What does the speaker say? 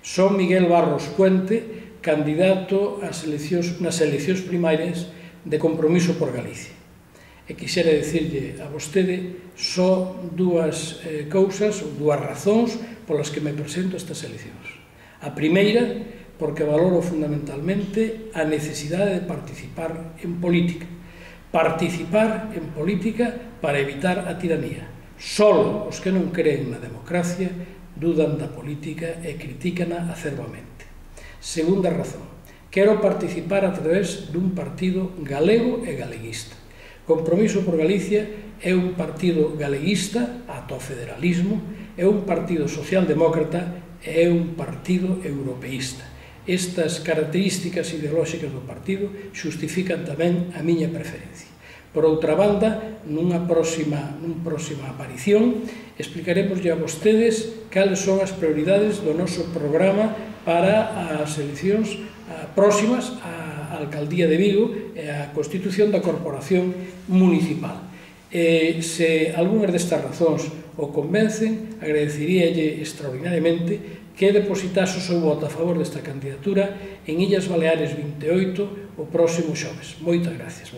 Son Miguel Barros Puente, candidato nas eleccións primarias de Compromiso por Galicia. E quixera dicirlle a vostede só dúas cousas, ou dúas razóns polas que me presento a estas eleccións. A primeira, porque valoro fundamentalmente a necesidade de participar en política. Participar en política para evitar a tiranía. Solo os que non creen na democracia dudan da política e critícana acerbamente. Segunda razón, quero participar a través dun partido galego e galeguista. Compromiso por Galicia é un partido galeguista ata o federalismo, é un partido socialdemócrata e é un partido europeísta. Estas características ideolóxicas do partido xustifican tamén a miña preferencia. Por outra banda, nunha próxima aparición, explicaremoslle a vostedes cales son as prioridades do noso programa para as eleccións próximas á Alcaldía de Vigo e á constitución da Corporación Municipal. Se algunhas destas razóns o convencen, agradeceríalle extraordinariamente que depositase o seu voto a favor desta candidatura en Illas Baleares 28 o próximo xoves. Moitas gracias.